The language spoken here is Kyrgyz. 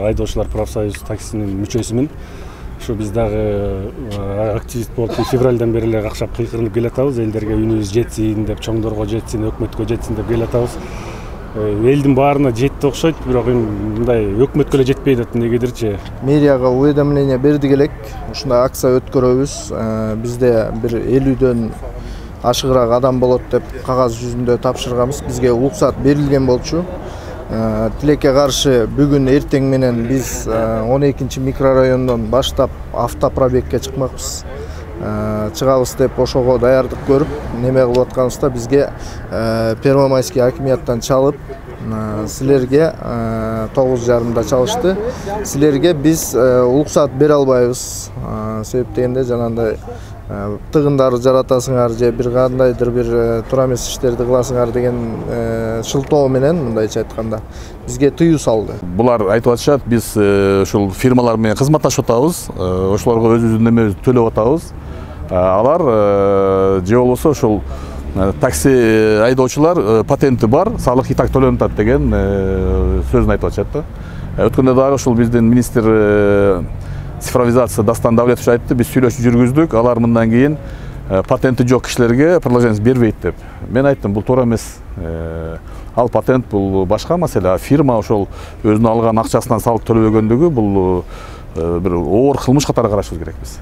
айдоочулар профсоюз таксинин мүчөсүмүн. Ушу биз дагы активист болуп февралдан бери эле какшап кыйкырынып келатабыз. Элдерге үнүбүз жетсин деп, чоңдорго жетсин, өкмөткө жетсин деп келатабыз. Элдин баарына жетти окшойт, бирок мындай өкмөткө эле жетпейт эмнегедирчи. Мэрияга уведомление бердик элек. Ушундай акция өткөрөбүз. Бизде бир 50дөн ашыгыраак адам болот деп кагаз жүзүндө тапшырганбыз. Бизге уруксат берилген болчу. Тилекке каршы бүгүн эртең менен биз 12 микрорайондон баштап автопробегге чыкмакпыз. Чыгабыз деп ошого даярдык көрүп, неме кылып атканыбызда бизге Первомайский акимияттан чалып, силерге 9:30-да чалышты. Силерге биз уруксат бере албайбыз. Себеп дегенде жанагындай тыгындарды жаратасыңар же бир кандайдыр бир туура эмес иштерди кыласыңар деген шылтоо менен мындайча айтканда бизге тыюу салды. Булар айтып атышат, биз ушул фирмалар менен кызматташып атабыз, ошолорго өзүбүздүн немебизди төлөп атабыз. Алар же болбосо ушул такси айдоочулар патенти бар, салык и так төлөнүп атат деген сөзүн айтып атышат да. Өткөндө дагы ушул биздин министр цифровизация Дастан Давлетович айтты, биз сүйлөшүү жүргүздүк, алар мындан кийин патенти жок кишилерге продолжение бербейт деп. Мен айттым, бул туура эмес. Ал патент бул башка маселе, а фирма ошол өзүнүн алган акчасынан салык төлөбөгөндүгү бул бир оор кылмыш катары карашыбыз керек биз.